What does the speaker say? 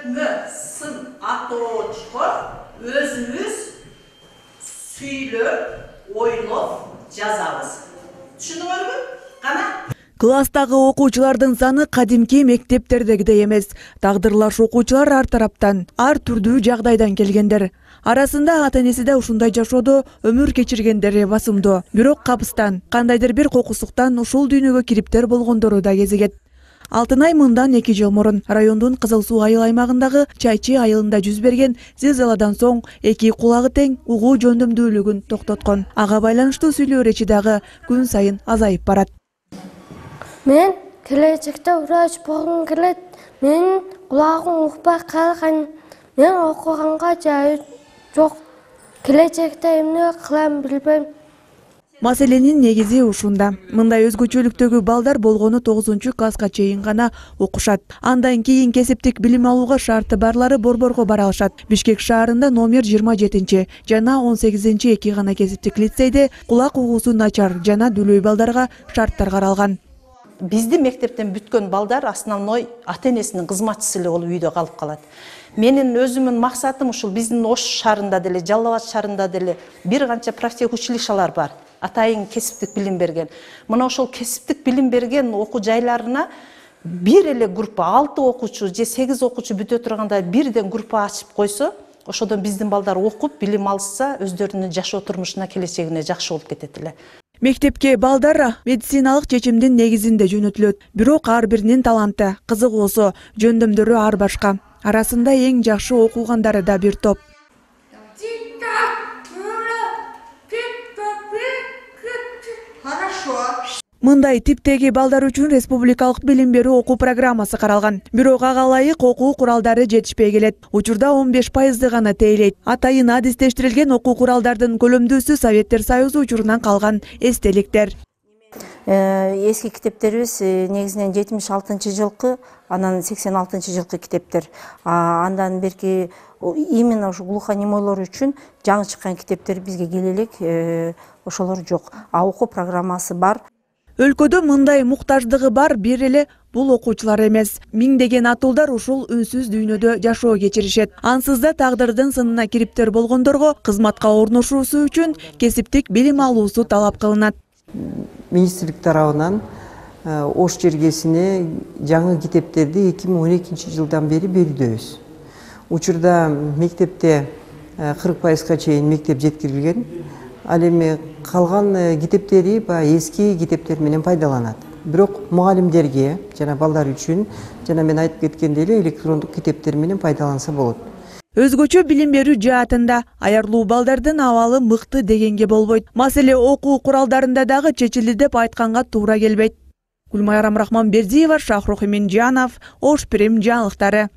өтмө, сын атоочко өзүбүз сүйлөп, ойлоп жазабыз. Түшүнүңөрбү? Кана? Класстагы окуучулардын саны кадимки мектептердегидей эмес. Тагдырлаш окуучулар ар тараптан, ар түрдүү жагдайдан келгендер. Арасында ата-энеси да ушундай жашоодо өмүр кечиргендери басымдуу. Бирок капыстан, кандайдыр бир кокусуктан ушул дүйнөгө кириптер болгондору да кезигет. Алтынай мындан 2 жыл мурун райондун Кызыл Суу айыл аймагындагы Чайчы айылында жүз берген зилзаладан соң 2 кулагы тең угуу жөндөмдүүлүгүн токтоткон. Ага байланыштуу сүйлөө дагы күн сайын азайып барат. Мен келечекте врач болгум келет. Менин кулагым укпай калган. Мен окуганга жайы жок. Келечекте эмне кылам билбейм. Маселенин негизи ушунда. Мындай өзгөчөлүктөгү балдар болгону 9-класска чейин гана окушат. Андан кийин кесиптик билим алууга шарты барлары борборго бара алышат. Бишкек шаарында номер 27 жана 18-2 гана кесиптик лицейде кулак угуусу начар жана дүлөй балдарга шарттар каралган. Биздин мектептен бүткөн балдар основной ата-энесинин кызматчысы эле болуп үйдө калып калат. Менин өзүмдүн максатым ушул биздин Ош шаарында деле, Жалал Абад шаарында деле бир канча профтехучилищалар бар. Атайын кесиптик билим берген. Мына ошол кесиптик билим берген окуу жайларына бир эле группа 6 окуучу же 8 окуучу бүтө турганда бирден группа ачып койсо, ошодон биздин балдар окуп, билим алса, өздөрүнүн жашоо турмушуна, келечегине жакшы болуп кетет эле. Мектепке балдар медициналык чечимдин негизинде жөнөтүлөт. Бирок ар биринин таланты, кызыгуусу, жөндөмдөрү ар башка. Арасында эң жакшы окугандары да бир топ. Мындай типтеги балдар үчүн республикалык билим берүү окуу программасы каралган. Бирок ага ылайык окуу куралдары жетишпей келет. Учурда 15% гана тейлейт. Атайын адистештирилген окуу куралдардын көлөмдүүсү Советтер Союзу учурунан калган эстеликтер. Эски китептерибиз негизинен 76-жылкы, анан 86-жылкы китептер. Андан берки именно ушу глухонемойлор үчүн жаңы чыккан китептер бизге келе элек, ошолор жок. Окуу программасы бар. Өлкөдө мындай муктаждыгы бар бир эле бул окуучулар эмес. Миңдеген атуулдар ушул үнсүз дүйнөдө жашоо кечиришет. Ансыз да тагдырдын сынына кириптер болгондорго кызматка орношуусу үчүн кесиптик билим алуусу талап кылынат. Министрлик тарабынан Ош жергесине жаңы китептерди 2012-жылдан бери берүүдөбүз. Учурда мектепте 40%га чейин мектеп жеткирилген. Ал эми калган китептери эски китептер менен пайдаланат. Бирок мугалимдерге жана балдар үчүн жана мен айтып кеткендей эле электрондук китептер менен пайдаланса болот. Өзгөчө билим берүү жаатында аярлуу балдардын абалы мыкты дегенге болбойт. Маселе окуу куралдарында дагы чечилди деп айтканга туура келбейт. Гүлмайра Рахманбердиева, Шахрух Эминжанов, Ош Прим жаңылыктары.